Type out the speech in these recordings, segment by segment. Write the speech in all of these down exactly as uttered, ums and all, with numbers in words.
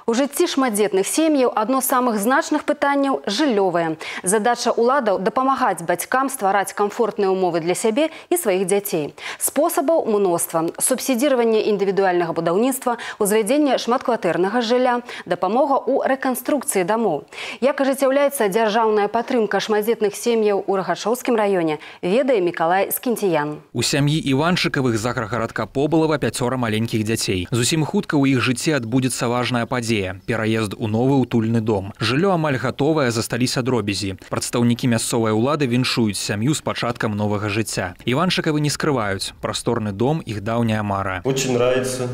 У жыцці шматдзетных сем'яў адно з самых значных пытанняў – жыллёвае. Задача ўладаў – дапамагаць бацькам ствараць камфортныя ўмовы для сябе і сваіх дзяцей. Спосабаў мноства. Субсідзіраванне індывідуальнага будаўніцтва, узвядзенне шматкватэрнага жылля, дапамога ў рэканструкцыі дамоў. Як ажыццяўляецца дзяржаўная падтрымка шматдзетных сем'яў у Рагачоўскім раёне, ведае Мікалай Скінціян. У сям'і Іванчыкавых з аграгарадка Побылава пяцёра маленькіх дзяцей. Зусім хутка ў іх жыцці адбудзецца важная падзея. Пераезд у новы утульны дом. Жыллё амаль гатовае, засталіся дробязі. Прадстаўнікі мясцовай улады віншуюць сям'ю з пачаткам новага жыцця. Іванчыкавы не скрываюць. Прасторны дом – іх даўняя мара. Очень нравится,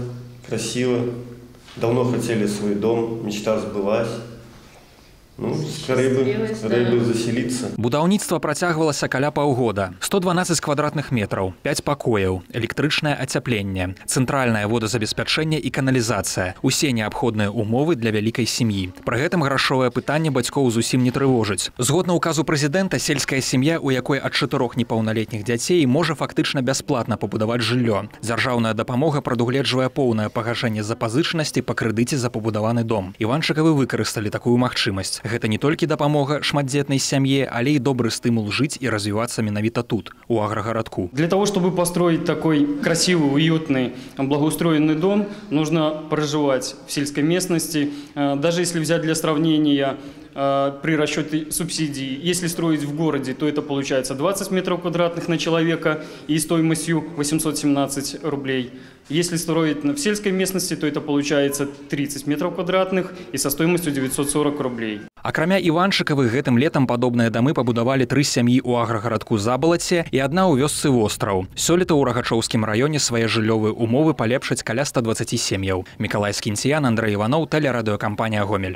красиво. Давно хотели свой дом, мечта сбылась. Ну, скорее бы, скорее бы заселиться. Будаўніцтва працягвалася каля паўгода. сто дванаццаць квадратных метраў, пяць пакояў, электрычнае ацяпленне, цэнтральнае водазабеспячэнне і каналізацыя. Усе неабходныя умовы для вялікай сям'і. Пры гэтым грашовае пытанне бацькоў зусім не трывожыць. Згодна ўказу прэзідэнта, сельская сям'я, у якой ад чатырох непаўналетніх дзяцей, можа фактычна бясплатна пабудаваць жыллё. Дзяржаўная дапамога прадугледжвае поўнае пагашэнне запазычанасці па крэдыце за пабудаваны дом. Іванчыкавы выкарысталі такую магчымасць. Гэта не толькі дапамога шматдзетнай сям'е, але і добры стымул жыць і развівацца менавіта тут, у аграгарадку. Для того, чтобы построить такой красивый, уютный, благоустроенный дом, нужно проживать в сельской местности. Даже если взять для сравнения при расчете субсидий, если строить в городе, то это получается двадцать метров квадратных на человека и стоимостью восемьсот семнадцать рублей. Если строить в сельской местности, то это получается тридцать метров квадратных и со стоимостью девятьсот сорок рублей. Акрамя Іванчыкавых, гэтым летам падобныя дамы пабудавалі тры сям'і ў аграгарадку Забалаце і адна ў вёсцы Востраў. Сёлета ў Рагачоўскім раёне свае жыллёвыя умовы палепшаць каля ста дваццаці сем'яў. Мікалай Скінціян, Андрэй Іваноў, тэлерадыёкампанія «Гомель».